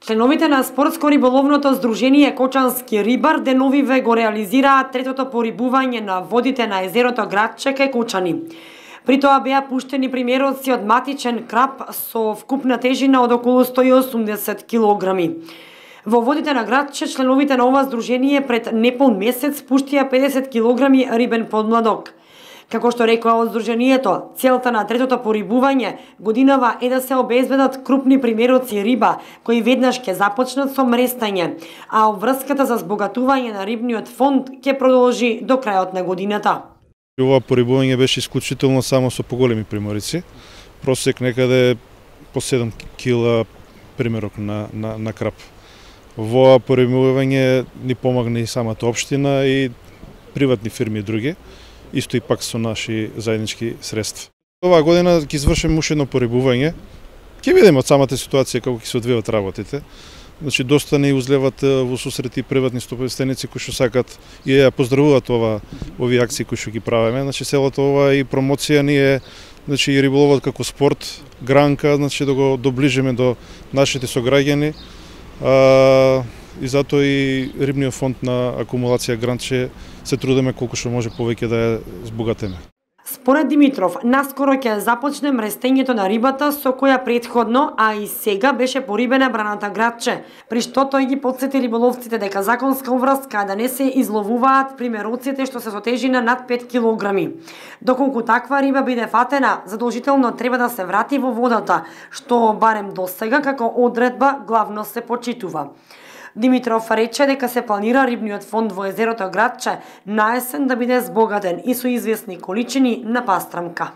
Членовите на спортско-риболовното здружение Кочански рибар деновиве го реализираат третото порибување на водите на езерото Градче кај Кочани. При тоа беа пуштени примероци од матичен краб со вкупна тежина од околу 180 килограми. Во водите на Градче членовите на ова здружение пред неполн месец пуштија 50 килограми рибен подмладок. Како што рекоа од здружението, целта на третото порибување годинава е да се обезбедат крупни примероци риба, кои веднаш ќе започнат со мрестање, а обврската за збогатување на рибниот фонд ќе продолжи до крајот на годината. Ова порибување беше исклучително само со поголеми приморици, просек некаде по 7 кила примерок на краб. Во порибување ни помогна и самата општина и приватни фирми и други, исто и пак со наши заеднички средства. Оваа година ќе извршиме уште едно порибување. Ќе видиме од самата ситуација како ќе се одвиваат работите. Значи доста не узлеват во сусрети приватни собственици кои што сакат и ја поздравуваат овие акции кои што ги правиме. Значи целата ова и промоција ни е, значи и риболовот како спорт, гранка, значи да го доближиме до нашите сограѓани. И затоа и рибниот фонд на акумулација Градче се трудиме колку што може повеќе да ја збогатиме. Според Димитров, наскоро ќе започне мрестењето на рибата со која претходно, а и сега беше порибена браната Градче, при што тој ги потсети риболовците дека законска обврска да не се изловуваат примероците што се со тежина над 5 килограми. Доколку таква риба биде фатена, задолжително треба да се врати во водата, што барем досега како одредба главно се почитува. Димитров рече дека се планира рибниот фонд во езерото Градче на есен да биде збогатен и со извесни количини на пастрамка.